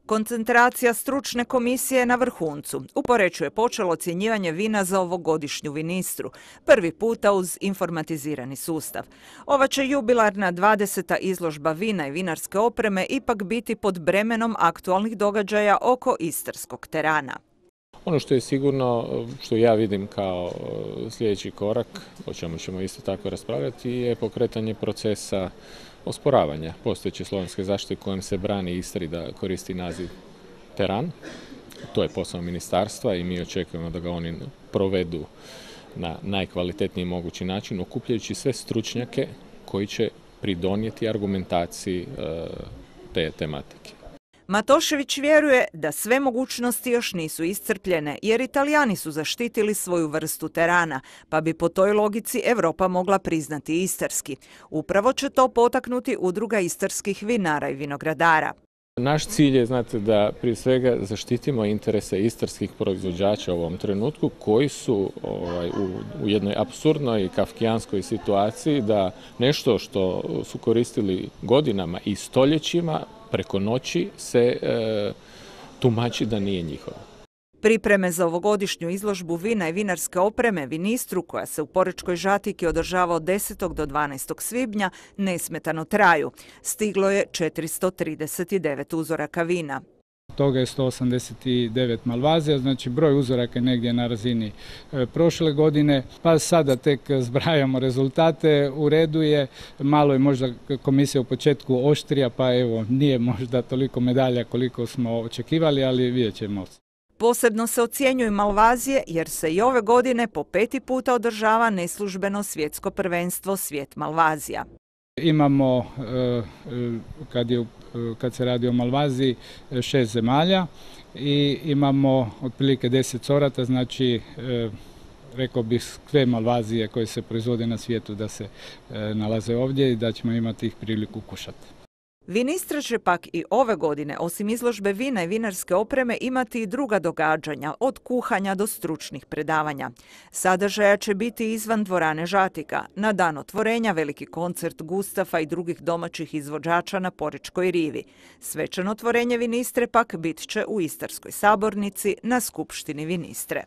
Koncentracija stručne komisije je na vrhuncu. U Poreču je počelo ocjenjivanje vina za ovogodišnju vinistru, prvi puta uz informatizirani sustav. Ova će jubilarna 20. izložba vina i vinarske opreme ipak biti pod bremenom aktualnih događaja oko istarskog terana. Ono što je sigurno, što ja vidim kao sljedeći korak, o čemu ćemo isto tako raspravljati, je pokretanje procesa osporavanja postojeće slovenske zaštite kojom se brani Istri da koristi naziv teran. To je posao ministarstva i mi očekujemo da ga oni provedu na najkvalitetniji mogući način, okupljajući sve stručnjake koji će pridonijeti argumentaciji te tematike. Matošević vjeruje da sve mogućnosti još nisu iscrpljene, jer Italijani su zaštitili svoju vrstu terana, pa bi po toj logici Europa mogla priznati istarski. Upravo će to potaknuti Udruga istarskih vinara i vinogradara. Naš cilj je, znate, da prije svega zaštitimo interese istarskih proizvođača u ovom trenutku koji su u jednoj apsurdnoj i kafkijanskoj situaciji da nešto što su koristili godinama i stoljećima preko noći se tumači da nije njihovo. Pripreme za ovogodišnju izložbu vina i vinarske opreme Vinistru, koja se u Porečkoj Žatiki održava od 10. do 12. svibnja, nesmetano traju. Stiglo je 439 uzoraka vina. Toga je 189 malvazija, znači broj uzoraka je negdje na razini prošle godine, pa sada tek zbrajamo rezultate. U redu je, malo je možda komisija u početku oštrija, pa evo nije možda toliko medalja koliko smo očekivali, ali vidjet ćemo. Posebno se ocjenjuju malvazije jer se i ove godine po 5. puta održava neslužbeno svjetsko prvenstvo Svijet malvazija. Imamo, kad se radi o malvaziji, 6 zemalja i imamo otprilike 10 sorata, znači rekao bih sve malvazije koje se proizvode na svijetu da se nalaze ovdje i da ćemo imati ih priliku kušati. Vinistra će pak i ove godine, osim izložbe vina i vinarske opreme, imati i druga događanja, od kuhanja do stručnih predavanja. Sadržaja će biti izvan dvorane Žatika. Na dan otvorenja veliki koncert Gustafa i drugih domaćih izvođača na Porečkoj rivi. Svečano otvorenje Vinistre pak bit će u Istarskoj sabornici na Skupštini Vinistre.